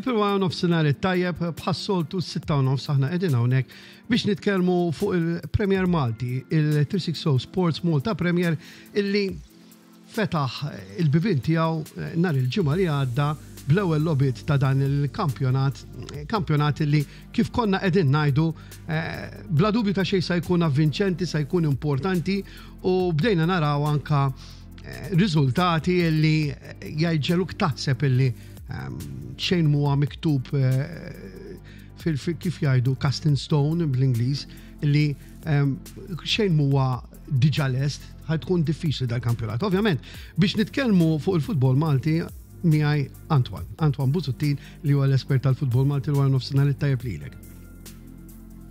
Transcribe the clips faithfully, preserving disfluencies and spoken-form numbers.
Ħabib, wara nofsinhar it-tajjeb. Bħas-soltu s-sitta u nofs aħna qegħdin hawnhekk biex nitkellmu fuq il-Premier Malti, il tliet mija u sittin Sports Malta Premier, illi fetaħ il-bibien tiegħu nhar il-Ġimgħa li għadda bl-ewwel logħbiet ta' dan il-kampjonat, kampjonat li, kif konna qegħdin ngħidu, eh, bla dubju ta' xejn sa jkun avvinċenti, sa jkun importanti, u bdejna naraw anka eh, riżultati li jġegħluk taħseb illi ehm, xejn huwa miktub eh, fil kif jgħidu, cast in stone bl-Ingliż, li ehm, xejn huwa diġà lest, ħa tkun diffiċli dal-kampjonat. Ovvjament, biex nitkellmu fuq il-futbol Malti, miegħi Antoine, Antoine Busuttil, li huwa l-espert tal-futbol Malti. Il-wara nofsinhar it-tajjeb lilek.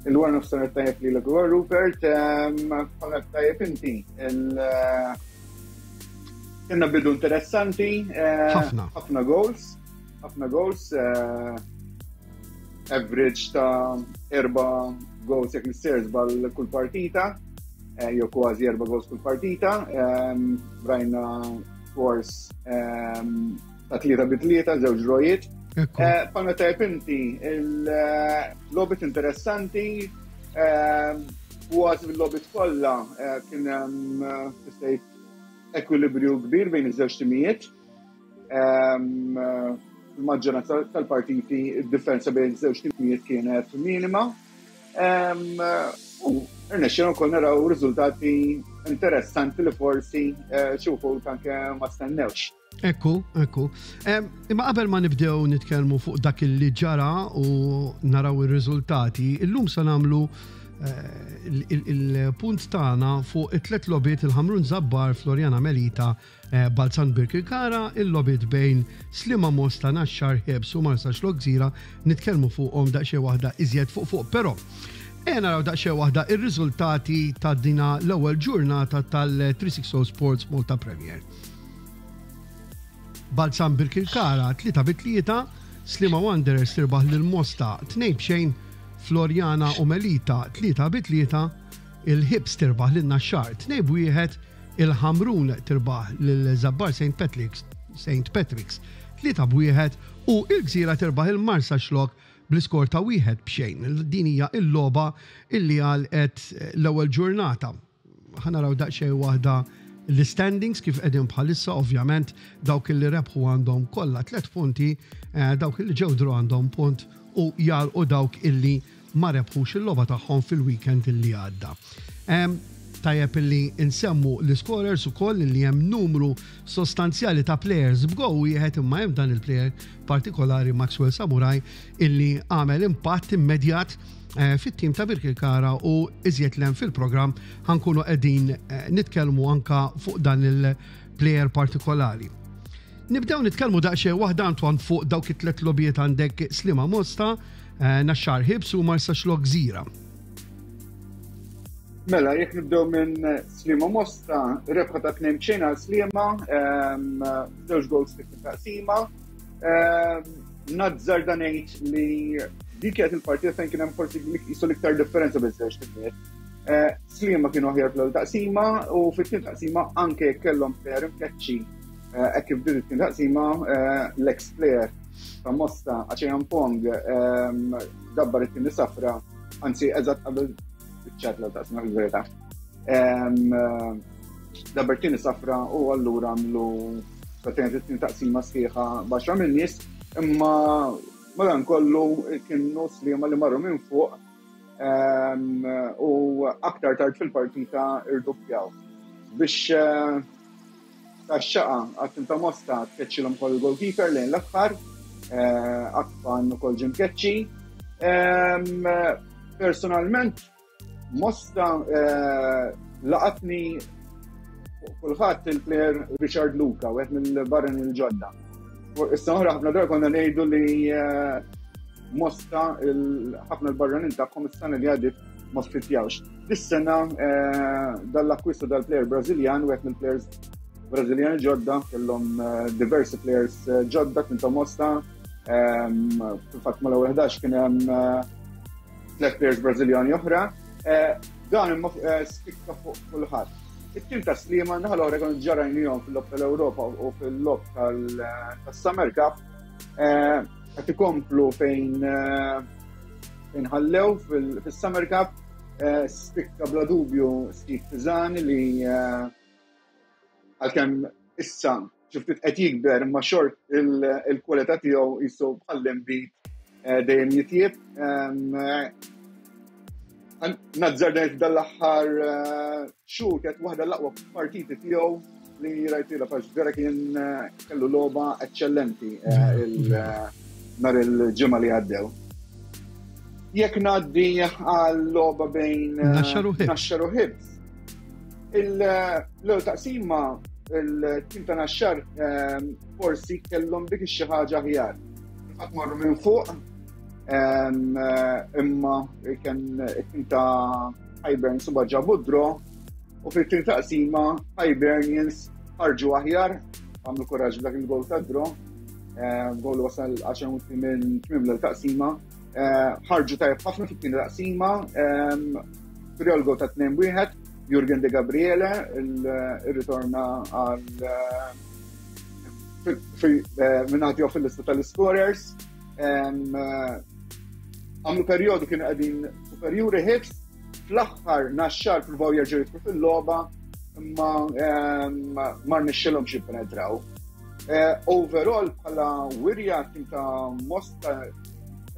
Il-wara nofsinhar tajjeb lilek, Rupert, bħala tajjeb inti. Kellna bidu interessanti. Eh, ħafna. Ħafna goals. Ħafna goals. Eh, average ta' erba' goals, jekk m'iniex żball, kull partita. Eh, jew kważi erba' goals kull partita. Rajna scores ta' tlieta bi tlieta, żewġ drawijiet. Bħalma tajb inti, il-logħbiet interessanti, kważi fil-logħbiet kollha kien hemm ekwilibrju kbir bejn iż-żewġ timijiet. Il-maġġoranza tal-partiti id-differenza bejn iż-żewġ timijiet kienet minima. U rnexxina wkoll naraw riżultati interessanti li forsi eh, xi wħud anke ma stennewx. Ekku, ekku. Imma qabel ma nibdew nitkellmu fuq dak li ġara u naraw ir-riżultati, illum sa nagħmlu eh, il-punt tagħna fuq it-tlet logħbiet: il-Ħamrun Zabbar, Floriana Melita, eh, Balzan Birkirkara, il-logħbiet bejn Sliema Mosta, Naxxar Hibs u Marsaxlokk Gżira, nitkellmu fuqhom daqsxejn waħda iżjed fuq fuq. Però ejja naraw daqsxejn waħda ir-riżultati ta' dina l-ewwel ġurnata tal-tliet mija u sittin Sports Malta Premier. Balzan Birkirkara tlieta bi tlieta, Sliema Wanderers tirbaħ lil Mosta tnejn b'xejn, Floriana u Melita tlieta bi tlieta, il-Hibs tirbaħ lil Naxxar tnejn b'wieħed, il-Ħamrun tirbaħ lil Zabbar Saint Patrick's Saint Patrick's tlieta b'wieħed u il-Gżira tirbaħ il-Marsaxlokk bl-iskor ta' wieħed b'xejn. Din hija il-logħba illi għalqet l-ewwel ġurnata. Ħa naraw daqsxejn waħda l-standings kif qegħdin bħalissa. Ovvjament, dawk li rebħu għandhom kollha tliet punti, eh, dawk li ġew draw għandhom punt u jalqu dawk illi ma rebħux il-logħba tagħhom fil-weekend illi għadda. Tajjeb illi nsemmu l-scorers ukoll, li hemm numru sostanzjali ta' players b'goal wieħed, imma hemm dan il-player partikolari, Maxwell Samurai, illi għamel impatt immedjat eh, fit-tim ta' Birkirkara, u iżjed 'l hemm fil-programm ħa nkunu qegħdin eh, nitkellmu anka fuq dan il-player partikolari. Nibdew nitkellmu daqsxejn waħda, Antoine, fuq dawk it-tlet logħbiet. Għandek Sliema Mosta, eh, Naxxar Hibs u Marsaxlokk Gżira. Mela, jekk nibdew minn Sliema Mosta, rebħa ta' tnejn xejn għal Sliema, żewġ goals fit taqsima. Nazzarda ngħid li dik kienet il-partita fejn kien hemm forsi jisu l-iktar differenza biż-żewġ timijiet. Eh, Sliema kienu aħjar fl taqsima u fit-tieni taqsima, anke kellhom player imkeċċi eh, hekk kif bdiet it-tieni taqsima, eh, l-ex player ta' Mosta, Acheampong, dabbar it-tieni safra, anzi eżatt qabel ċat l taqsima fil-verità. Dabbar tieni safra u allura għamlu pratikament it-tieni taqsima sħiħa b'għaxra min-nies, imma madan kollu kienu Sliema li marru minn fuq u aktar tard fil-partita irdoppjaw. Biex eh, tax-xaqa għat-tim ta' Mosta, tkeċċilhom kol il-goalkeeper lejn l-aħħar, eh, Akpan ukoll ġie mkeċċi. Personalment, Mosta eh, laqatni kulħadd il-player Richard Luca, wieħed mill-barranin il-ġodda. Issa oħra ħafna drabi konna ngħidu li eh, Mosta ħafna l-barranin tagħhom is-sena li għaddiet ma fitjawx. Dis-sena eh, dal-akkwistu dal-player Brażiljan, wieħed mill-players Brażiljan ġodda, kellhom diversi players ġodda kien ta' Mosta, fil-fatt mal-ewwel ħdax kien hemm tliet players Brażiljani oħra. Eh, dan imma eh, spikka fuq kulħadd. It-tim ta' Sliema naħa l-oħra konu ġarajnijom fil-logħob tal-Ewropa u fil-logħob tas-Summer Cup. Eh, qed ikomplu fejn fejn ħallew fil-Summer Cup. Spikka bla dubju Steve Pisani li għalkemm issa xi ftit qed jikber, imma xort il-kwalità tiegħu jisu bħall-inbid dejjem jitjieb. Nazzardajt dal-aħħar xhur kienet waħda l-aqwa partiti tiegħu li rajt għax vera kien kellu logħba eċċellenti nhar il-Ġimgħa li għaddew. Jekk ngħaddi għal logħba bejn Naxxar u Hibs. L-ewwel taqsima il-tim ta' Naxxar forsi kellhom dik xi ħaġa aħjar. Fatt marru minn fuq, imma kien it-tim ta' Hibernians u ġabu draw u fit-tim taqsima Hibernians ħarġu aħjar, għamlu kuraġġ dak il-gol ta' draw, gol wasal għaxar minuti minn tmiem l-taqsima, ħarġu tajjeb ħafna fit-tieni taqsima, skurjaw l-gol ta' tnejn wieħed, Jurgen De Gabriele irritorna għal min-naħa tiegħu fil-lista tal-scorers. Għamlu periodu kienu qegħdin superjuri Hibs, fl-aħħar Naxxar provaw jerġgħu jidħlu fil-logħba, imma ma rnexxilhomx jippenetraw. Overall bħala wirja tim ta' Mosta,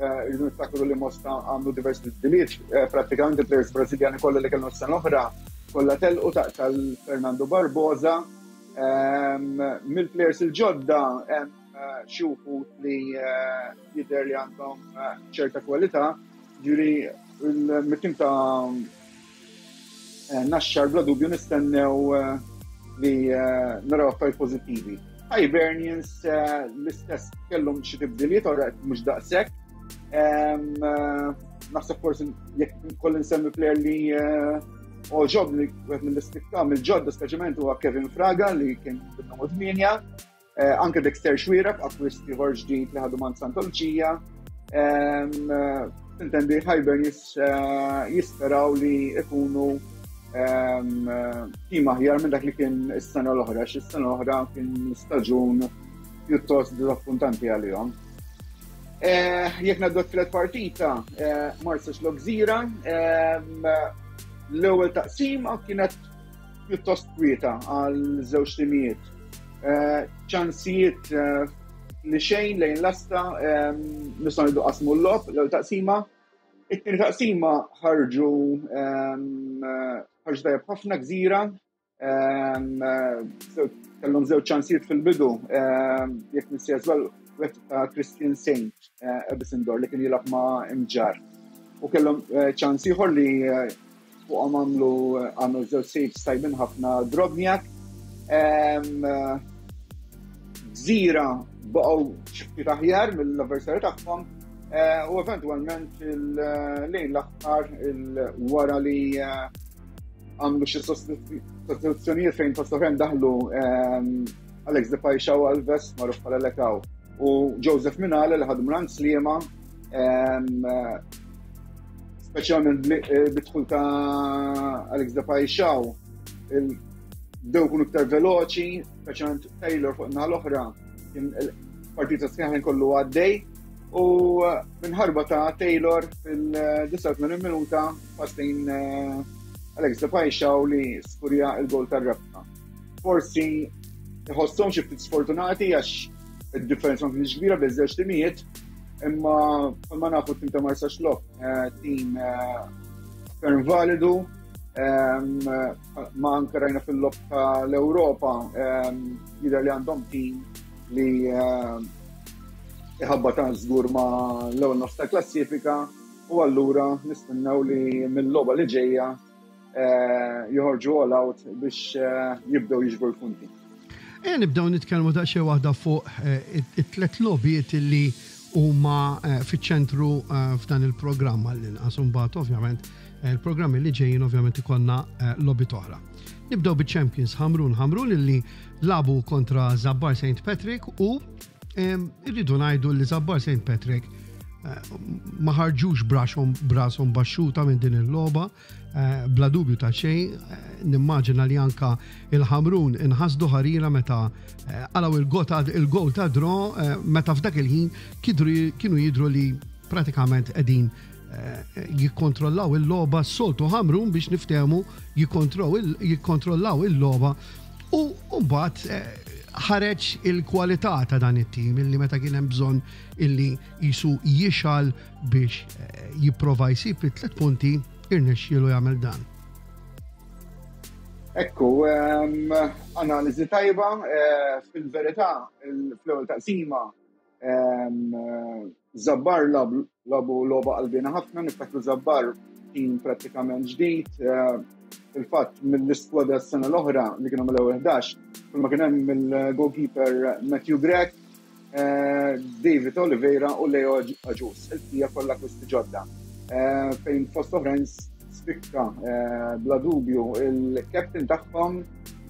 irridu niftakru li Mosta għamlu diversi tibdiliet, prattikament il-players Brażiljani kollha li kellhom s-sena oħra kollha telqu tal-Fernando Barbosa. Mill-players il-ġodda hemm xi wħud li jidher li għandhom ċerta kwalità, ġifieri mit-tim ta' Naxxar bla dubju nistennew li naraw affarijiet pożittivi. Hibernians l-istess, kellhom xi tibdiliet, ora mhux daqshekk. Naħseb forsi jekk kolli nsemmi player li għoġobni, wieħed mill-istikka mill-ġodda speċjalment, huwa Kevin Fraga li kien bin-numru tmienja. Anke Dexter Xuereb, akkwist ieħor ġdid li ħadu minn Santa Lucia. Intendi Hibernians jisperaw li ikunu tim aħjar minn dak li kien is-sena l-oħra, għax is-sena l-oħra kien staġun pjuttost disappuntanti għalihom. Jekk ngħaddu t-tielet partita, Marsaxlokk Gżira, l-ewwel taqsima kienet pjuttost kwieta għal żewġ timijiet. Ċansijiet li xejn lejn l-asta, nistgħu ngħidu qasmu l-logħob l-ewwel taqsima. It-tieni taqsima ħarġu ħarġu tajjeb ħafna Gżira, kellhom żewġ ċansijiet fil-bidu, jekk m'iniex żball wieħed ta' Christian Saint Ebisindor li kien jilgħab ma' Imġarr. U kellhom ċans ieħor li fuqhom għamlu għamlu żewġ saves tajbin ħafna Drobniak. Gżira baqgħu xi ftit aħjar mill-avversarju tagħhom u eventwalment lejn l-aħħar, wara li għamlu xi sostituzzjonijiet fejn fost oħrajn daħlu Alex De Paixão Alves, magħruf bħala Lekaw, u Joseph Minale li ħadu minn Sliema, speċjalment bid-dħul ta' Alex De Paixão bdew kunu iktar veloċi, speċjalment Taylor fuq naħa l-oħra kien partita sħiħa kollu għaddej u minn ħarba ta' Taylor fil-disa u tmenin minuta pass lejn Alex De Paixão li skurja il-gol tar-rebħa. Forsi iħosshom xi ftit sfortunati għax id-differenza ma kienx kbira bejn żewġ timijiet, imma ma nafu tim ta' Marsaxlokk, tim ferm validu, ma anke rajna fil-logħob tal-Ewropa jidher li għandhom tim li iħabbat ta' żgur ma l-ewwel nofs ta' klassifika u allura nistennew li mill-logħba li ġejja joħorġu all out biex jibdew jiġbru l-punti. E nibdew nitkellmu daqsxejn waħda fuq it-tlet logħbiet li huma fiċ-ċentru f'dan il-programm għall-inqas, imbagħad ovvjament il-programmi li ġejjin ovvjament ikollna logħbiet oħra. Nibdew biċ-Champions Ħamrun Ħamrun illi lagħbu kontra Zabbar Saint Patrick u irridu ngħidu li Zabbar Saint Patrick Ma ħarġux b'rashom b'rashom baxxuta minn din il-logħba, bla dubju ta' xejn. Nimmaġina li anka il-Ħamrun inħasdu ħarira meta qalgħu il-gol ta' draw, meta f'dak il-ħin kienu jidru li pratikament qegħdin jikkontrollaw il-logħba. Soltu Ħamrun, biex niftehmu, jikkontrollaw il-logħba u mbagħad ħareġ il-kwalità ta' dan it-tim illi meta kien hemm bżonn illi jisu jixal biex jipprova jsib it-tliet punti, irnexxielu jagħmel dan. Ekku, analiżi tajba. Fil-verità, fl-ewwel taqsima Zabbar lagħbu logħba qalbina ħafna. Niftakru Zabbar tim prattikament ġdid. Fil-fatt, mill-iskwadra s-sena l-oħra li kienu mill-ewwel ħdax, kull ma kien hemm mill-goalkeeper Matthew Grech, David Oliveira u Leo Aġus. Il-bqija kollha akkwisti ġodda. Fejn fost oħrajn spikka bla dubju il-captain tagħhom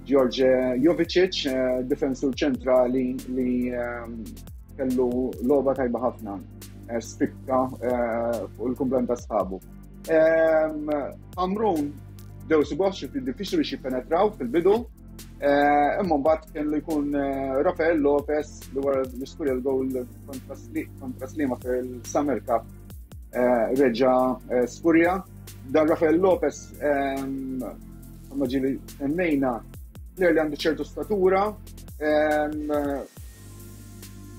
George Jovicic, difensur ċentrali li kellu logħba tajba ħafna, spikka fuq il-kumplament ta' sħabu. Ħamrun bdew isibuh xi ftit diffiċli biex jippenetraw fil-bidu, imma mbagħad kellu jkun Rafael Lopez li wara li skurja l-gowl kontra Sliema fil-Summer Cup reġa' skurja. Dan Rafael Lopez, ma ġieli semmejna, player li għandu ċertu statura,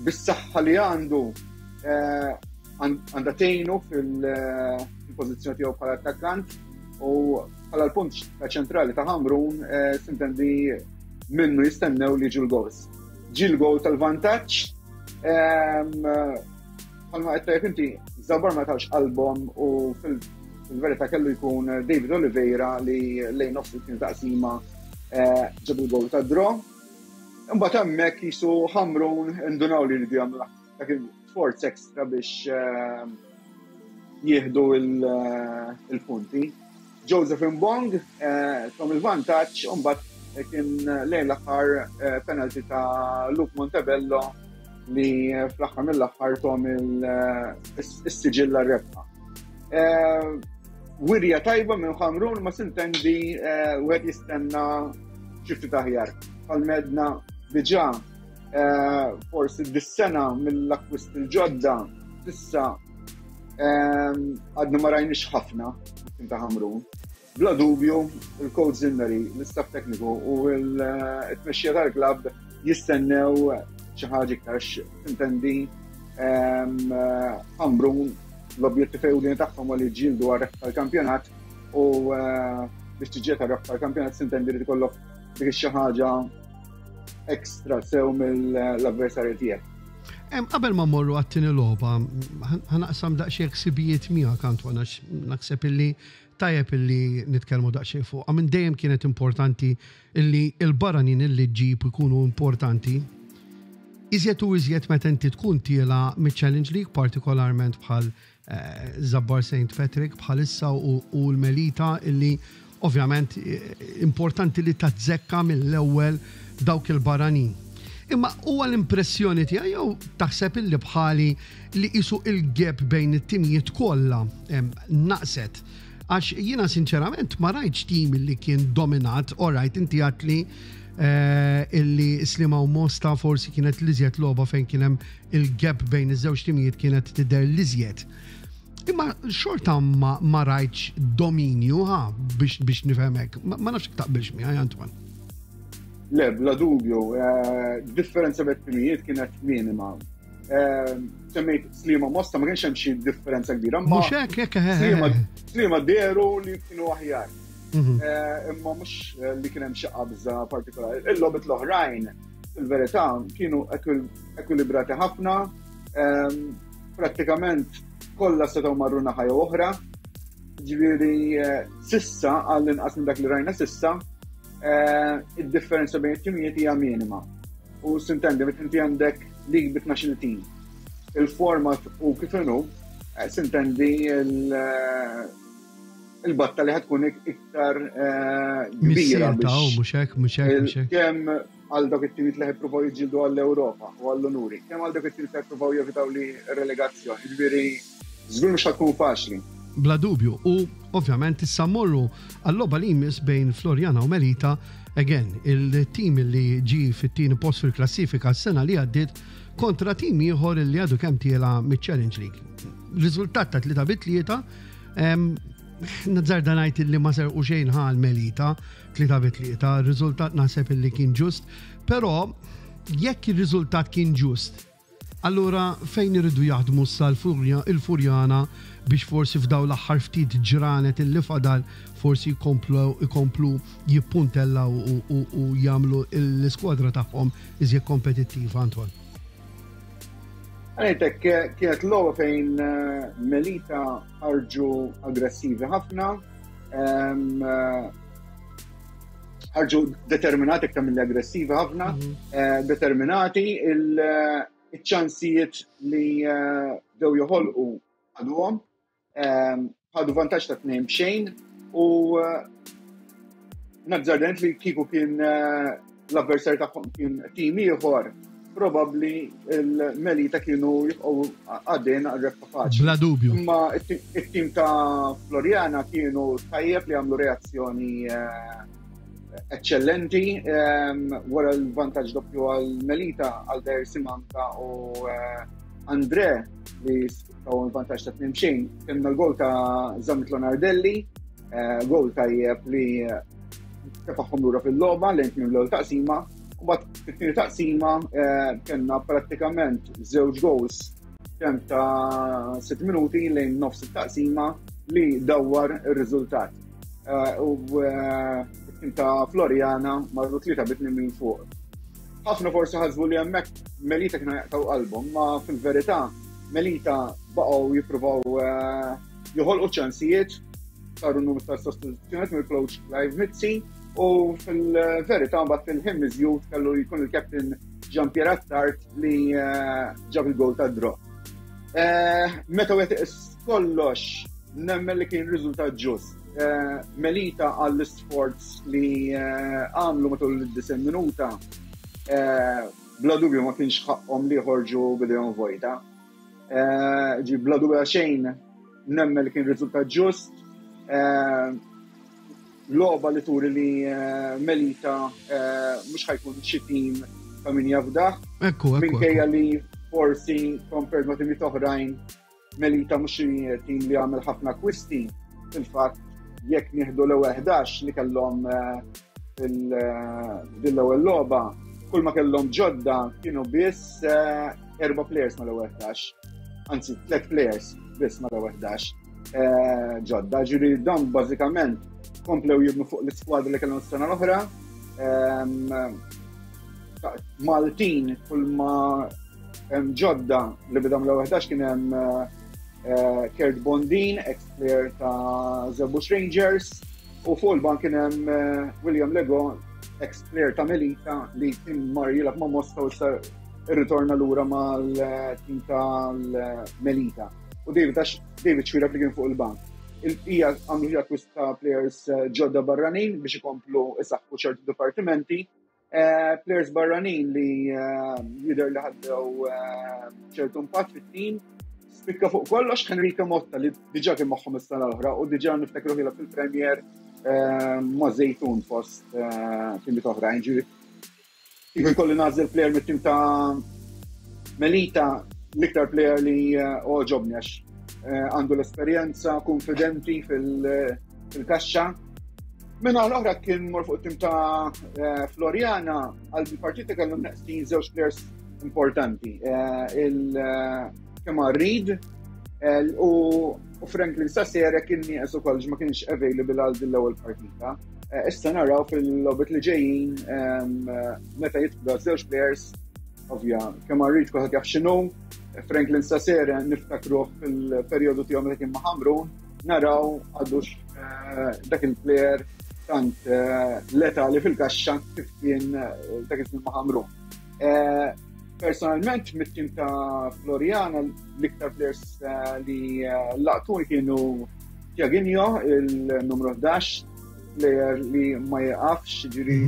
bis-saħħa li għandu għandha tgħinu fil-pożizzjoni tiegħu bħala attakkant u bħala l-punt ta' ċentrali ta' Ħamrun, sintendi minnu jistennew li ġu l-goals. Ġi l-goal tal-vantaġġ, bħalma qed tajjeb inti, Zabbar ma tawx qalbhom u fil-verità kellu jkun David Oliveira li lejn nofs it taqsima ġab il-goal ta' draw. Imbagħad hemmhekk jisu Ħamrun indunaw li jridu jagħmlu dak il-sforz ekstra biex jieħdu il-punti. Joseph Mbong tom il-vantaġġ u mbagħad kien lejn l-aħħar penalty ta' Luke Montebello li fl-aħħar mill-aħħar tom is-siġilla rebħa. Wirja tajba minn Ħamrun, ma sintendi wieħed jistenna xi ftit aħjar. Bħalma għedna diġà, forsi dis-sena mill-akkwist il-ġodda s'issa għadna ma rajniex ħafna ta' Ħamrun. Bla dubju, il-coach Zinneri, l-istaff tekniku u l-tmexxija tal-klabb jistennew xi ħaġa iktar. Intendi Ħamrun l-objettiv ewlieni tagħhom li ġildu għar tal-kampjonat u biex tiġġieled għar tal-kampjonat sintendi li tkollok dik xi ħaġa ekstra sew mill-avversarju tiegħek. Qabel ma morru għat-tieni logħba, ħa naqsam daqsxejn ħsibijiet miegħek, Antoine, għax naħseb illi tajjeb illi nitkellmu daqsxejn fuq. Minn dejjem kienet importanti illi il-barranin illi ġib ikunu importanti. Iżjed u iżjed meta inti tkun tiela' mill-Challenge League, partikolarment bħal Zabbar Saint Patrick bħalissa u l-Melita, illi ovvjament importanti li tazzekka mill-ewwel dawk il-barranin. Imma huwa l-impressjoni tiegħi jew taħseb illi bħali li qisu il-gap bejn it-timijiet kollha naqset? Għax jiena sinċerament ma rajtx tim li kien dominat. Alright, inti għedt li illi Sliema u Mosta forsi kienet l-iżjed logħba fejn kien hemm il-gap bejn iż-żewġ timijiet kienet tidher l-iżjed. Imma xorta ma, ma rajtx dominju, ha, biex, biex nifhemek. Ma, ma nafx taqbilx miegħi, Antoine. Le, bla dubju, differenza bejn timijiet kienet minima. Semmejt Sliema Mosta, ma kienx hemm xi differenza kbira. Mhux hekk, hekk. Sliema dehru li kienu aħjar. Imma mhux li kien hemm xi qabża partikolari. Il-logħbiet l-oħrajn, fil-verità, kienu ekwilibrati ħafna, prattikament kollha setgħu marru naħa jew oħra. Ġifieri s'issa, għall-inqas minn dak li rajna s'issa, id-differenza bejn it-timijiet hija minima. U sintendi, meta inti għandek league bi tnax-il team, il-format u kif inhu, sintendi il-batta li ħa tkun iktar kbira. Mhux hekk, mhux hekk, mhux hekk. Kemm għal dawk it-timijiet li jippruvaw jiġġieldu għall-Ewropa u għall-unuri, kemm għal dawk it-timijiet li jippruvaw jevitaw li relegazzjoni. Ġifieri żgur mhux tkun faċli. Bla dubju. U ovvjament issa mmorru għall-logħba li jmiss bejn Floriana u Melita. Again, il-tim li ġi fit-tieni post fil-klassifika s-sena li għaddiet kontra tim ieħor li għadu kemm tiela miċ-Challenge League. Riżultat ta' tlieta bi tlieta, nazzarda ngħid li ma serqu xejn ħal Melita, tlieta bi tlieta, riżultat naħseb li kien ġust, però jekk ir-riżultat kien ġust, allura fejn iridu jaħdmu issa il-Furjana biex forsi f'daw l-aħħar ftit ġranet illi fadal forsi jkomplu ikomplu jippuntellaw u, u, u jagħmlu l-iskwadra tagħhom iżjed kompetittiva, Antoine? Għanitek, kienet logħba fejn eh, Melita ħarġu aggressivi ħafna, eh, ħarġu determinati iktar mill aggressivi ħafna, mhm. eh, determinati, il-ċansijiet li bdew joħolqu ħaduhom, ħadu vantaġġ ta' tnejn b'xejn u nazzardent li kieku kien l-avversar tagħhom kien tim ieħor, probabbli il-Melita kienu jibqgħu għaddejn għal-rebħa faċli. Bla dubju. Imma it-tim ta' Floriana kienu tajjeb li għamlu reazzjoni eh, eccellenti ehm, wara l-vantaġġ doppju għal Melita għal Der Simanka u eh, Andre li taw il-vantaġġ ta' tnejn xejn. Kellna l-gol ta' Zammit Lonardelli, eh, gol tajjeb li tefaħħom lura fil-logħba lejn tmiem l-ewwel taqsima. U bat fit-tieni taqsima eh, kellna prattikament żewġ goals kemm ta' sitt minuti lejn nofs it-taqsima li dawwar ir-riżultat. Eh, u it-tim ta' Floriana marru tlieta bi tnejn minn fuq. Ħafna forsi ħasbu li hemmhekk Melita kienu jaqtaw qalbhom, ma fil-verità Melita baqgħu jippruvaw eh, joħolqu ċansijiet, saru numru ta' sostituzzjonijiet mill-coach Clive Mizzi u fil-verità mbagħad fil-ħin miżjud kellu jkun il-captain Jean Pierre Attard li eh, ġab il-gol ta' draw. Eh, meta wieħed iqis kollox, nemmen li kien riżultat ġust. Eh, Melita għall-isforz li għamlu matul id-disgħin minuta, bla dubju ma kienx ħaqhom li jħorġu b'idejhom vojta. Ġi bla dubju xejn nemmen li kien riżultat ġust. Logħba li turi li Melita mhux ħa jkun xi tim ta' min jafdaħ. Ekku, ekku. Minkejja li forsi compared ma' timiet oħrajn Melita mhux xi tim li għamel ħafna akkwisti. Fil-fatt jekk nieħdu l-ewwel ħdax li kellhom fil ewwel logħba, kull ma kellhom ġodda kienu biss erba' players mal-ewwel ħdax. Anzi, tliet players biss mal-ewwel ħdax ġodda. Ġifieri dawn bażikament komplew jibnu fuq l-iskwadra li kellhom s-sena l-oħra. Maltin kull ma hemm ġodda li bidam l-ewwel ħdax kien hemm Kurt Bondin, ex-player ta' Żebbuġ Rangers, u fuq il-bank kien hemm William Lego, ex-player ta' Melita li kien mar jilgħab ma' Mosta u issa irritorna lura mal-tim tal-Melita. U David David Xuereb li kien fuq il-bank. Il-bqija għamlu akkwist ta' players ġodda barranin biex ikomplu isaħħu ċertu dipartimenti. Players barranin li jidher li ħaddew ċertu impatt fit-tim. Spikka fuq kollox Henrique Motta li diġà kien magħhom is-sena l-oħra u diġà niftakru ħila fil-Premier ma' Zejtun fost timiet oħrajn. Ġifieri kieku jkolli nagħżel player mit-tim ta' Melita, l-iktar player li għoġobni għax għandu l-esperjenza, konfidenti fil-kaxxa. Minna l-oħra kien mor fuq tim ta' Floriana għal partita kellhom neqsin żewġ players importanti. Il-Kemar Reid u Franklin Sassere kien nieqes ukoll ma kienx available għal din l-ewwel partita. Issa naraw fil-logħbiet li ġejjin meta jidħlu żewġ players, ovvja, Kemar Reid kulħadd jaf x'inhu, Franklin Sassere niftakruh fil-perjodu tiegħu meta kien ma' Ħamrun, naraw għadux dak il-player tant letali fil-kaxxa kif kien dak iż-żmien ma' Ħamrun. Personalment, mit-tim ta' Floriana, l-iktar players li laqtuni kienu Tiaginho, il-numru ħdax, player li ma jaqafx, ġiri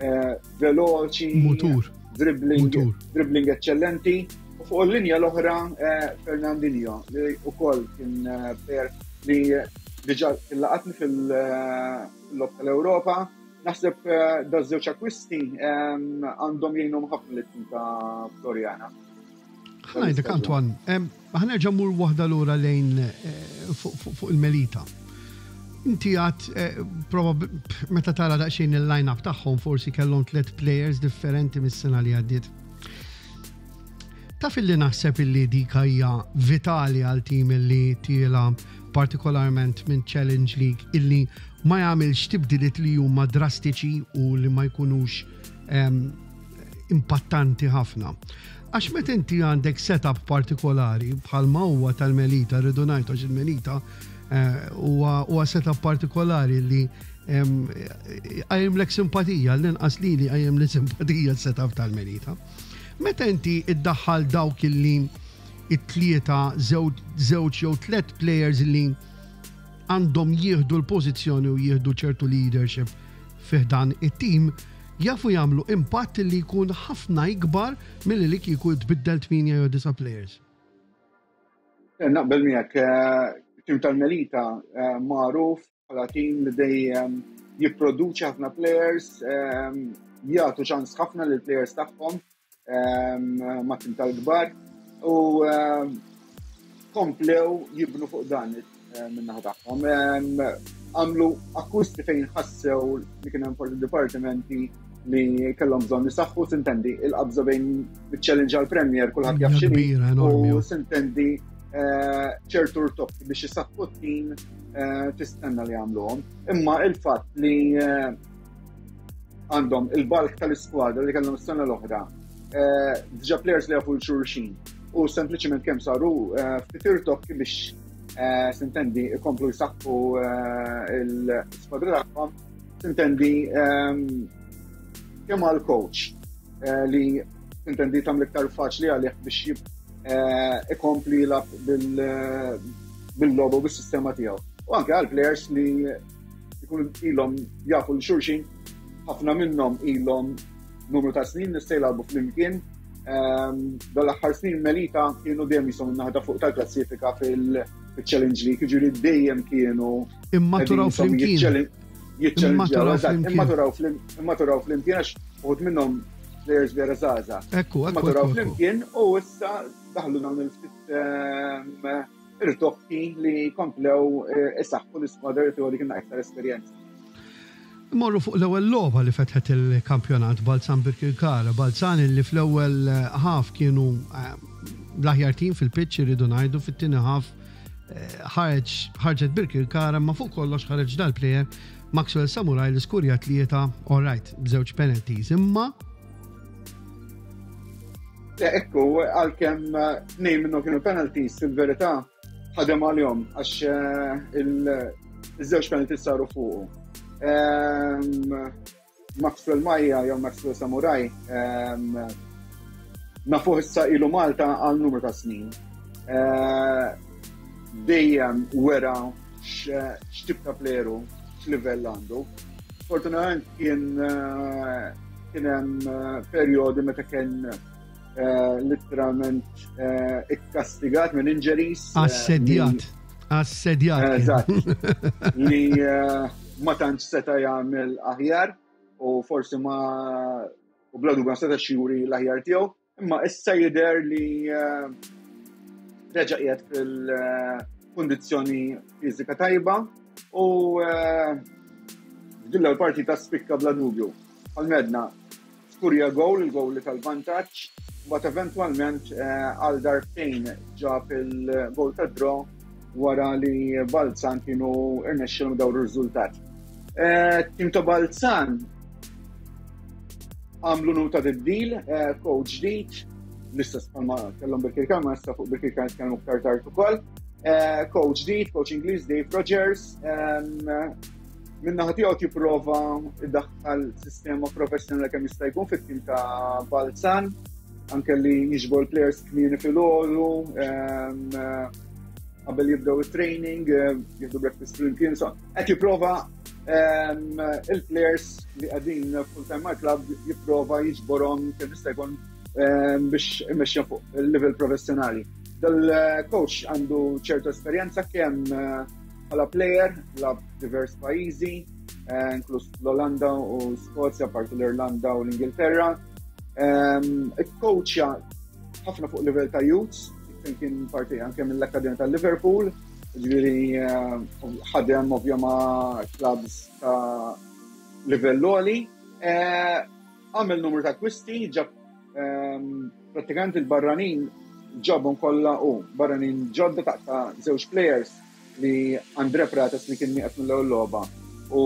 eh, veloċi, Mutur. dribbling, Mutur. dribbling eccellenti. U fuq il-linja l-oħra eh, Fernandinho li wkoll kien eh, player li diġà laqatni fil-logħob tal-Ewropa. Naħseb eh, da żewġ akkwisti em, għandhom jgħinhom ħafna lit-tim ta' Floriana. Ħa ngħidlek, Antoine, em, ħa nerġa' mmur waħda lura lejn eh, fuq fuq- fuq il-Melita. Inti għat, eh, probab meta tara daqsxejn il-line-up tagħhom, forsi kellhom tliet players differenti mis-sena li għaddiet. Taf illi naħseb illi dik hija vitali għal tim illi tiela partikolarment minn Challenge League illi ma jagħmilx tibdiliet li huma drastiċi u li ma jkunux em, impattanti ħafna. Għax meta inti għandek setup partikolari bħalma huwa tal-Melita, rridu ngħidu għax il-Melita eh, huwa huwa setup partikolari li em, qajjimlek simpatija, l-inqas li li qajjimli simpatija l-setup tal-Melita. Meta inti iddaħħal dawk illi it-tlieta, żewġ jew tliet players li għandhom jieħdu l-pożizzjoni u jieħdu ċertu leadership fi ħdan it-tim, jafu jagħmlu impatt li jkun ħafna ikbar milli li kieku tbiddel tmienja jew disa' players. Eh, Naqbel miegħek, eh, tim tal-Melita eh, magħruf bħala tim li dejjem jipproduċi ħafna players, eh, jagħtu ċans ħafna lil players tagħhom eh, ma' tim tal-kbar u eh, komplew jibnu fuq dan eh, min-naħa tagħhom. Eh, Għamlu akkwisti fejn ħassew li kien hemm forsi dipartimenti li kellhom bżonn jisaħħu. Sintendi, il-qabża bejn il-Challenge għal Premier kulħadd jaf x'inhi Kbira, enormi. u sintendi eh, ċertu rtokki biex jisaħħu t-tim eh, tistenna li jagħmluhom. Imma il-fatt li eh, għandhom il-bulk tal-iskwadra li kellhom is-sena l-oħra, eh, diġà players li jafu 'l xulxin u sempliċement kemm saru eh, ftit irtokki biex eh, sintendi ikomplu jsaħħu eh, l-iskwadra tagħhom, sintendi ehm, kemm għal coach eh, li sintendi tagħmel iktar faċli għalih biex jib eh, ikompli jilgħab bil- bil-logħba u bis-sistema tiegħu. U anke għal players li jkunu ilhom jafu 'l xulxin, ħafna minnhom ilhom numru ta' snin nista' jilagħbu flimkien. Ehm, Dal-aħħar snin Melita kienu dejjem jisom naħda fuq tal-klassifika fil-Challenge League, jiġifieri dejjem kienu Immaturaw flimkien. Jiċċellenġjaw, Immaturaw eżatt, flimkien. immaturaw flim- immaturaw flimkien għax uħud minnhom players vera żgħażagħ. Ekku, ekku, Immaturaw ekku, ekku. flimkien u issa daħlu dawn il-ftit ehm, irtokki li komplew eh, isaħħu l-iskwadra li teori kienna iktar esperjenza. Morru fuq l-ewwel logħba li fetħet il-kampjonat, Balzan Birkirkara. Balzan li fl-ewwel eh, half kienu eh, l-aħjar tim fil-pitch, irridu ngħidu, fit-tieni half eh, ħareġ ħarġet Birkirkara, ma fuq kollox ħareġ dal-player Maxwell Samurai li skurja tlieta, all right, b'żewġ penalties. Imma Le, ekku, għalkemm eh, tnejn minnhom kienu penalties, fil-verità ħadem għalihom għax eh, il- iż-żewġ penalties saru fuqu. Ehm, Maxwell Maja jew Maxwell Samurai ehm, nafuh issa ilu Malta għal numru ta' snin. Eh, Dejjem wera x'tip ta' player hu, x'livell għandu. Fortunatament kien eh, kien hemm eh, perjodi meta kien eh, literalment eh, ikkastigat minn injuries. eh, Assedjat. Assedjat kien. Eżatt. Li eh, ma tantx seta' jagħmel aħjar u forsi ma u bla dubju ma setax juri l-aħjar tiegħu, imma issa jidher li eh, reġa' qiegħed fil-kundizzjoni fiżika tajba u eh, f'din l-partita spikka bla dubju. Għal-medna skurja goal, il-goal li tal-vantaġġ, but eventwalment eh, għal darbtejn ġab il-goal ta' draw wara li Balzan kienu irnexxilhom dawru r-riżultat. Eh, Tim ta' Balzan għamlu numru ta' tibdil, eh, coach ġdid, l-istess bħalma kellhom Birkirkara, ma issa fuq Birkirkara nitkellmu aktar tard ukoll. Eh, Coach ġdid, coach Ingliż Dave Rogers, em, min-naħa tiegħu jipprova iddaħħal sistema professjonali kemm jista' jkun fit-tim ta' Balzan, anke li jiġbor players kmieni filgħodu, em, qabel jibdew it-training, eh, jieħdu breakfast flimkien, so qed jipprova Il-players li qegħdin full-time mal-club jipprova jiġborhom kemm jista' jkun biex imexxi fuq il-level professjonali. Dal-coach għandu ċertu esperjenza kemm bħala player, lagħab divers pajjiżi, inkluż l-Olanda u Skozja, parti l-Irlanda u l-Ingilterra. Ikkoċja ħafna fuq livell ta' youths, kien parti anke mill-Akkademja tal-Liverpool, ġifieri ħadem ovvja ma' clubs ta' livell għoli. Għamel numru ta' akkwisti, ġab prattikament il-barranin ġabhom kollha u barranin ġodda ta' żewġ players li Andre Prates li kien nieqes mill-ewwel logħba u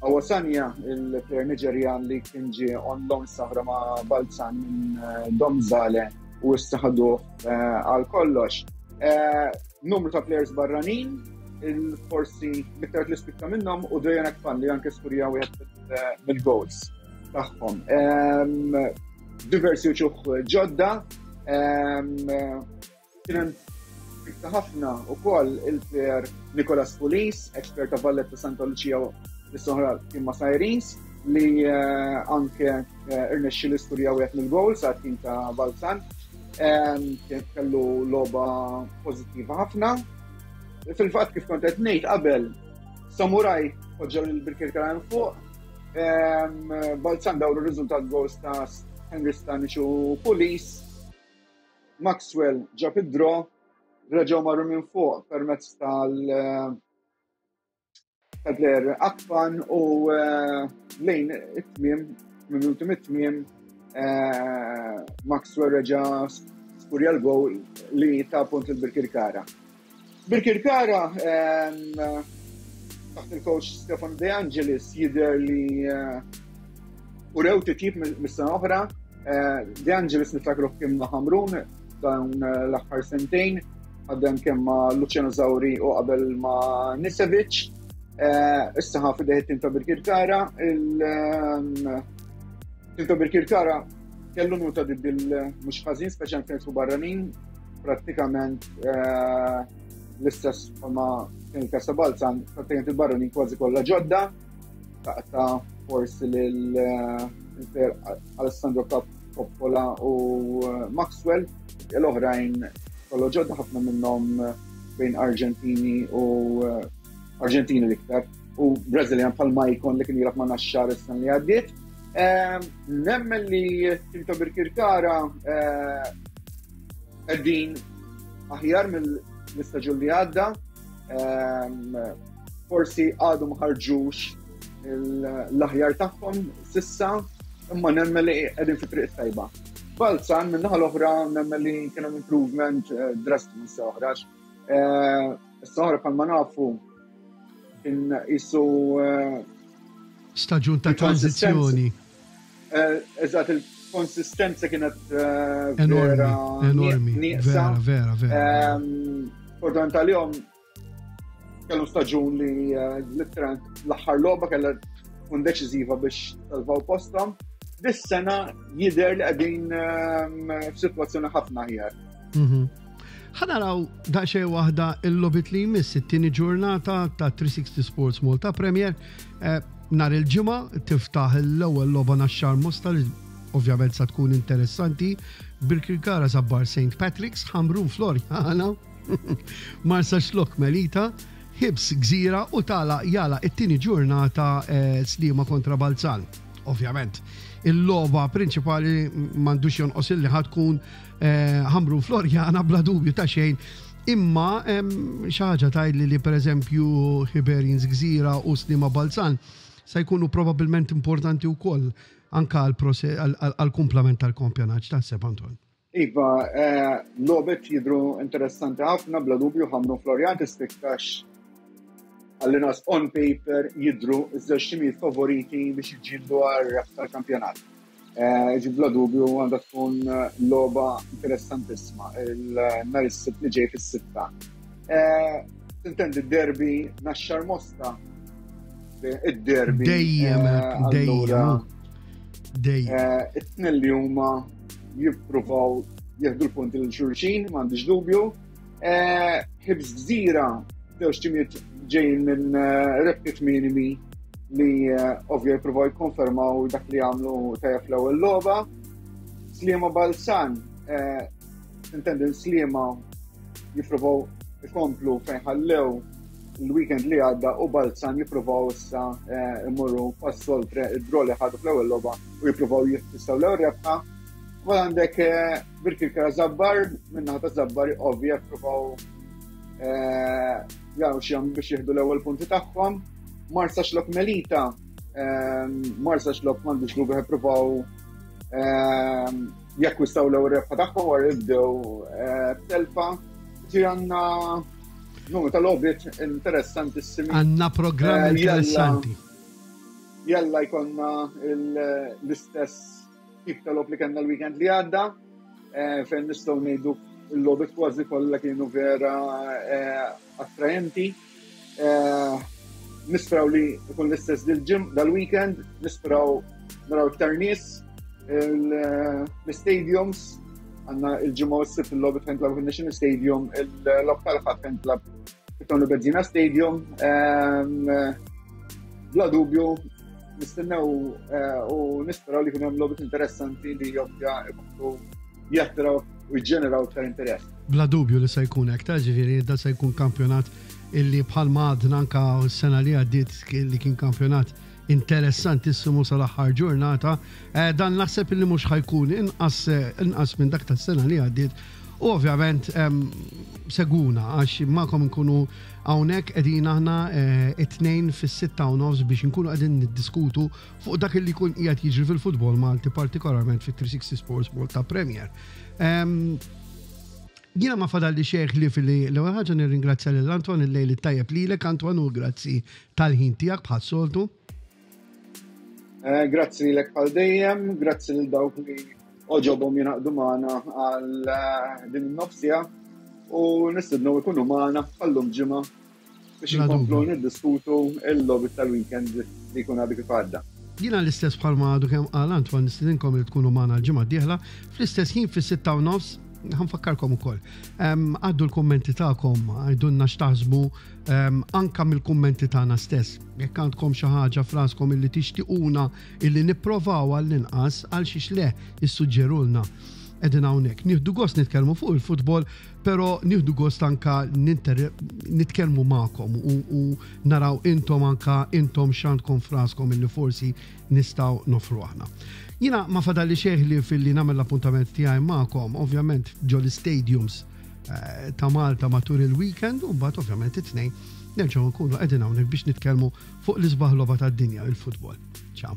Awasanya, il-player Niġerjan li kien ġie on loan sahra ma' Balzan minn Domzale u issa ħaduh għal kollox. Numru ta' players barranin, il-forsi l-iktar li spikka minnhom u Dejan Akpan li anke skurja wieħed mill-goals tagħhom. Diversi uċuħ ġodda, kien spikka ħafna ukoll il-player Nicolas Pulis, expert ta' Valletta Santa Lucia li soħra kien ma' Sirens, li anke irnexxi l-istorja wieħed mill-goals għat tim ta' Balzan. Kien kellu logħba pożittiva ħafna. Fil-fatt kif kont qed ngħid qabel, Samurai poġġew lil Birkirkara fuq. Balzan dawru r-riżultat goals ta' Henry Stanic u Pulis. Maxwell ġab id-draw, reġgħu marru minn fuq permezz tal- tal-player Akpan u lejn it-tmiem, minuti mit-tmiem, Maxwell reġa' skurja l-goal li ta' punt il-Birkirkara. Birkirkara taħt il-coach Stefan De Angelis jidher li urew titjib mis-sena oħra. De Angelis niftakru kien ma' Ħamrun dawn l-aħħar sentejn, għaddem kemm ma' Luciano Zauri u qabel ma' Nisevic. Issa ħa fideh it-tim ta' Birkirkara. Il-tim ta' Birkirkara kellu nuta diddil mhux ħażin, speċjalment fejn barranin, prattikament l-istess ma kien il-każ ta' Balzan, prattikament il-barranin kważi kollha ġodda, ta' forsi lil Alessandro Coppola u Maxwell, l-oħrajn kollha ġodda, ħafna minnhom bejn Argentini u Argentini l-iktar u Brazilian bħal Maicon li kien jilgħab ma' Naxxar is-sena li għaddiet. Nemmen li tim ta' Birkirkara qegħdin aħjar mill-istaġun li għadda, forsi għadu ma ħarġux l-aħjar tagħhom sissa, imma nemmen li qegħdin fi triq tajba. Balzan minn naħa l-oħra nemmen li kien hemm improvement drastiku issa oħra. Issa oħra bħalma nafu kien isu staġun ta' tranzizzjoni. Eżatt, il-konsistenza kienet vera enormi, vera, vera, vera. Fortunat tal-jom kellu staġun li literalment l-aħħar logħba kellha tkun deċiżiva biex salvaw posthom. Dis-sena jidher li qegħdin f'sitwazzjoni ħafna aħjar. Ħa naraw daqsxejn waħda il-logħbiet li jmiss it-tieni ġurnata ta' three sixty Sports Malta Premier. Nhar il-ġimgħa tiftaħ l-ewwel logħba Naxxar Mosta li ovvjament sa tkun interessanti. Birkirkara Żabbar Saint Patrick's, Ħamrun Floriana, Marsaxlokk Melita, Hibs Gżira u tala jala it-tieni ġurnata Sliema kontra Balzan. Ovvjament, il-logħba prinċipali m'għandux jonqos illi ħad tkun Ħamrun Floriana bla dubju ta' xejn. Imma xi ħaġa tgħidli li pereżempju Hibernians Gżira u Sliema Balzan se jkunu probabbilment importanti wkoll anka għall-kumplament tal-kampjonat. X'taħseb, Anton? Iva, logħbiet jidhru interessanti ħafna, bla dubju Ħamrun Floriana tispikkax għall-inqas on paper jidhru ż-żewġ timijiet favoriti biex jiġġieldu għar-rebħ tal-kampjonat. Ġi bla dubju għandha tkun logħba interessantissima il-nhar is-Sibt li ġej fis-sitta. Tintendi d-derby Naxxar Mosta, id-derby. Dejjem, dejjem. Dejjem. It-tnejn li huma jippruvaw jieħdu l-punti lil xulxin, m'għandix dubju. Hibs Gżira, żewġ timijiet Ġejjin minn eh, rebħiet minimi li eh, ovvja jippruvaw jikkonfermaw dak li għamlu tajjeb fl-ewwel logħba. Sliema Balzan, eh, intendi Sliema jippruvaw ikomplu fejn ħallew il-weekend li għadda u Balzan jippruvaw issa imorru pass oltre id-draw li ħadu fl-ewwel logħba u jippruvaw jiffissaw l-ewwel rebħa. U għandek Birkirkara Żabbar, min-naħa ta' Żabbar ovvja jippruvaw jaraw x'jagħmlu biex jieħdu l-ewwel punti tagħhom. Marsaxlokk Melita, Marsaxlokk m'għandux dubju jippruvaw jakkwistaw l-ewwel rebħa tagħhom wara li bdew b'telfa. Ġi għandna numru ta' logħbiet interessantissimi. Għandna programm interessanti. Jalla jkollna l-istess tip ta' logħob li kellna l-weekend li għadda, fejn nistgħu ngħidu l-logħbiet kważi kollha kienu vera attraenti. Nisperaw li jkun l-istess dil-ġim dal-weekend, nisperaw naraw iktar nies l-stadiums, għandna il-ġimgħa u s-Sibt il-logħbiet fejn tlagħbu fin-National Stadium, il-logħob tal-Ħadd fejn tlagħab fit-Tony Bezzina Stadium. Bla dubju, nistennew u nisperaw li jkun hemm logħbiet interessanti li ovvja jkunu jattiraw u jġeneraw iktar interess. Bla dubju li se jkun hekk, ta' ġifieri da se jkun kampjonat illi bħalma għadna anka s-sena li għaddiet li kien kampjonat interessantissimu sal-aħħar ġurnata, dan naħseb illi mhux ħa jkun inqas inqas minn dak tas-sena li għaddiet. U ovvjament seguna għax magħkom nkunu hawnhekk qegħdin aħna it-tnejn fis-sitta u nofs biex nkunu qegħdin niddiskutu fuq dak li jkun qiegħed jiġri fil-futbol Malti, partikolarment fit-three sixty Sports Malta Premier. Jiena ma fadalli xejn li fili l-ewwel ħaġa nirringrazzja lil Antoine, il-lejl it-tajjeb lilek Antoine u grazzi tal-ħin tiegħek bħas-soltu. Grazzi lilek bħal dejjem, grazzi lil dawk li oġobhom jingħaqdu magħna għal din in-nofsija u nistednu jkunu magħna bħallum ġimgħa biex inkomplu niddiskutu l-logħbiet tal-weekend li jkun għadu kif għadda. Jiena l-istess bħalma għadu kemm qal Antoine, nistedinkom li tkunu magħna l-ġimgħa d-dieħla fl-istess ħin fis-sitta u nofs. Ħanfakkarkom ukoll. Għaddu l-kummenti tagħkom, għidulna x'taħsbu anka mill-kummenti tagħna stess. Jekk għandkom xi ħaġa f'raskom illi tixtiquna illi nipprovaw għall-inqas, għal xiex le issuġġerulna. Qegħdin hawnhekk. Nieħdu gost nitkellmu fuq il-futbol, però nieħdu gost anka nitkellmu magħkom u, u naraw intom anka intom x'għandkom f'raskom illi forsi nistgħu nofru aħna. Jiena ma fadalli xejn li fil-li nagħmel l-appuntament tiegħi magħkom, ovvjament ġol stadiums ta' Malta matul il-weekend u mbagħad ovvjament it-tnejn nerġgħu nkunu qegħdin hawnhekk biex nitkellmu fuq l-isbaħ logħba tad-dinja, il-futbol. Ciao.